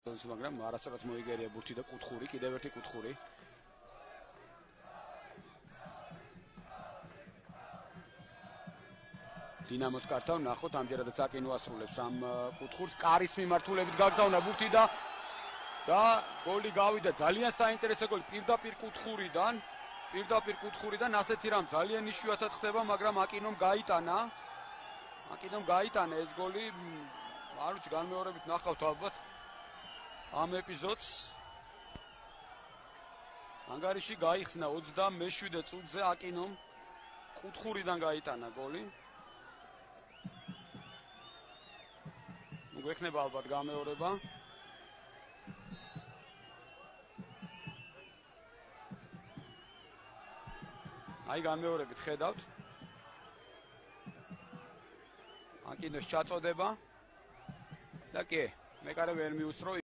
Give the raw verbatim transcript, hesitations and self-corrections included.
მაგრამ არასწორად მოიგერია ბურთი და კუთხური, კიდევ ერთი კუთხური. დინამოს კართან ნახოთ, ამჯერადაც აკინო ასრულებს ამ კუთხურს, კარის მიმართულებით გაგზავნა ბურთი და და გოლი გავიდა. ძალიან საინტერესო გოლი პირდაპირ კუთხურიდან, პირდაპირ კუთხურიდან ასეთი რამ ძალიან იშვიათად ხდება, მაგრამ აკინომ გაიტანა. აკინომ გაიტანა ეს გოლი. არ ვიცი, განმეორებით ნახავთ ალბათ ამ ეპიზოდს. ანგარიში გაიხსნა ოცდამეშვიდე წუთზე აკინომ კუთხურიდან გაიტანა გოლი. ნუ გვექნება ალბათ გამეორება. აი განმეორებით ხედავთ. აკინოს ჩაწოდება და კი, მეკარე ვერ მიუსწრო.